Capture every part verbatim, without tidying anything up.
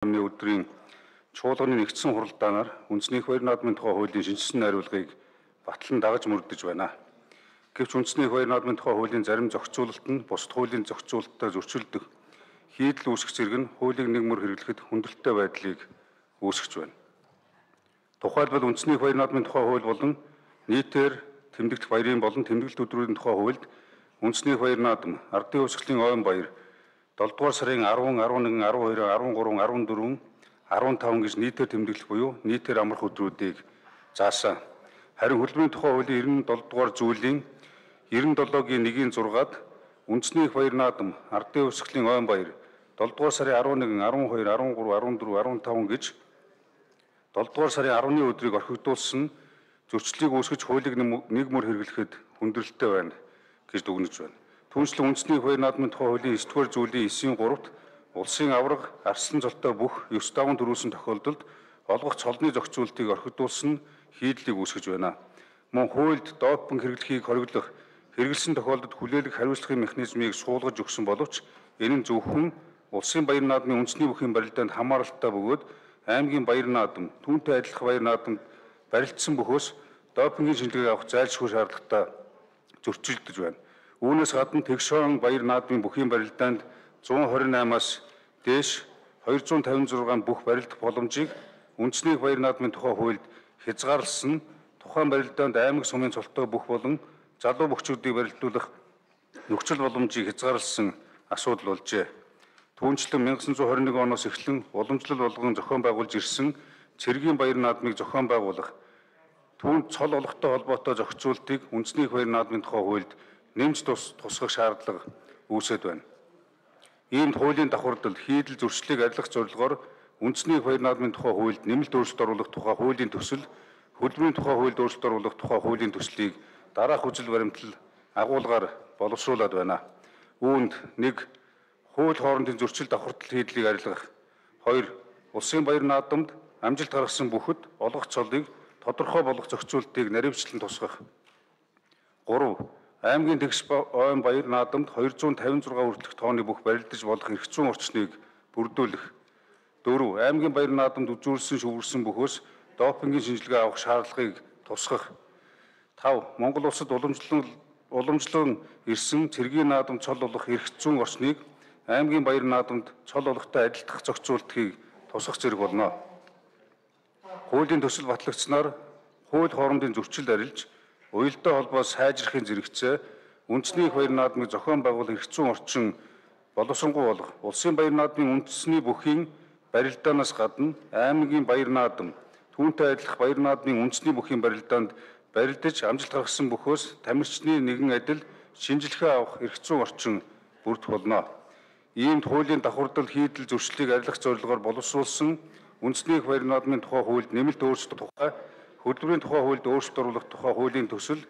Өмнө өдрийн чуулганы нэгдсэн хуралдаанаар үндэсний хоёр наадмын тухай хуулийн шинжилсэн найруулгыг батлан дагаж мөрдөж байна. Гэвч үндэсний хоёр наадмын тухай хуулийн зарим зохицуулалт нь бусад хуулийн зохицуулалттай зөрчилдөх хийдэл үүсгэх зэрэг нь хуулийг нэг мөр хэрэглэхэд хүндрэлтэй байдлыг үүсгэж байна. Тухайлбал үндэсний хоёр наадмын тухай хууль болон нийтээр тэмдэгдэх баярын болон тэмдэглэлт өдрүүдийн тухай хуульд үндэсний хоёр наадам, Ардын Хувьсгалын ойн баяр долдугаар сарын арван, арван нэг, арван хоёр, арван гурав, арван дөрөв, арван таван гэж нийтээр тэмдэглэх буюу нийтээр амрах өдрүүдийг заасан. Харин хөдөлмөрийн тухай хуулийн девяносто дугаар зүйлийн девяносто долоогийн нэгийн зургаад үндэсний хоёр наадам, Ардын Хувьсгалын ойн баяр долдугаар сарын арван нэг, арван хоёр, арван гурав, арван дөрөв, арван таван гэж долдугаар сарын арваны өдрийг орхигдуулсан зөрчлийг үүсгэж хуулийг нэг мөр хэрэглэхэд хүндрэлтэй байна гэж дүгнэж байна. Түүнчлэн үндэсний хоёр наадмын тухай хуулийн девять дугаар зүйлийн девятын гуравт улсын аварга, арслан золтой бүх ёс даван төрүүлсэн тохиолдолд олгох цолны зохицуултыг орхигдуулсан хийдлийг үүсгэж байна. Мөн хуульд допинг хэрэглэхийг хориглох, хэрэгэлсэн тохиолдолд хүлээлгэх хариуцлагын механизмыг суулгаж өгсөн боловч энэ нь зөвхөн улсын баяр наадмын үндэсний бүхийн барилдаанд хамааралтай бөгөөд аймгийн баяр наадам, түүнтэй адилхан баяр наадамд барилдсан бөхөөс допингийн шинжилгээг авах зайлшгүй шаардлагатай зөрчилдөж байна. Үүнээс гадна Тэгшоон баяр наадмын бүхийн барилдаанд зуун хорин аймаас дээш двести пятьдесят шесть бүх барилдах боломжийг үндэсний баяр наадмын тухай хуульд хязгаарласан тухайн барилдаанд аймаг сумын цолтой бүх болон залуу бөхчүүдийг барилдуулах нөхцөл боломжийг хязгаарласан асуудал болжээ. Түүнчлэн 천구 백이십일 оноос эхлэн уламжлал болгон зохион байгуулж ирсэн цэргийн баяр наадмыг зохион байгуулах түүнд цол олготой холбоотой зохицуултыг үндэсний баяр наадмын тухай хуульд нэмж тусгах шаардлага үүсэт байна. Иймд хуулийн давхардал хийдэл зөрчлийг арилгах зорилгоор үндэсний баяр наадмын тухай хуульд нэмэлт өөрчлөлт оруулах тухай хуулийн төсөл, хөдөлмөрийн тухай хуульд өөрчлөлт оруулах тухай хуулийн төслийг дараах үзэл баримтлал агуулгаар боловсруулад байна. Үүнд нэг хууль хоорондын зөрчил давхардал хийдлийг арилгах, хоёр улсын баяр наадамд амжилт гаргасан бүхэд олгох цолыг тодорхой болгох зохицуултыг наривчлан тусгах, гурав аймгийн тэгш ойн баяр наадамд двести пятьдесят шесть хүртэлх тооны бүх барилдаж болох эрх зүйн орчныг бүрдүүлэх, дөрөв аймгийн баяр наадамд үзүүлсэн шүүгэрсэн бөхөөс допингийн шинжилгээ авах шаардлагыг тусгах, тав Монгол улсад уламжлан уламжлан ирсэн цэргийн наадамд цол олох эрх зүйн орчныг аймгийн баяр наадамд цол олохтой адилдах зохицуултыг тусгах зэрэг болно. Хуулийн төсөл батлагдсанаар хууль хоорондын зөрчил арилж уялдаа холбоо сайжрахын зэрэгцээ үндэсний баяр наадмыг зохион байгуулах эрх зүйн орчин боловсронгуй болох улсын баяр наадмын үндэсний бүхийн барилдаанаас гадна аймгийн баяр наадам, түүнтэй адилах баяр наадмын үндэсний бүхийн барилдаанд барилдаж амжилт гаргасан бөхөөс тамирчны нэгэн адил шинжилгээ авах эрх зүйн орчин бүрдэх болно. Иймд хуулийн давхардал хийдэл зөрчлийг арилгах зорилгоор боловсруулсан үндэсний баяр наадмын тухай хуульд нэмэлт өөрчлөлт тухай хөдөлмөрийн тухай хуульд өөрчлөлт оруулах тухай хуулийн төсөл,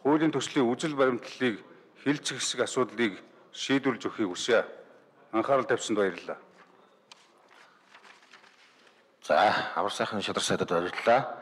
хуулийн төслийн үзэл баримтлалыг хэлж хэсэг асуудлыг шийдвэрлэж өгөхийг хүсье. Анхаарал тавьсанд баярлалаа. За, амар сайхан шадар сайдад баярлалаа.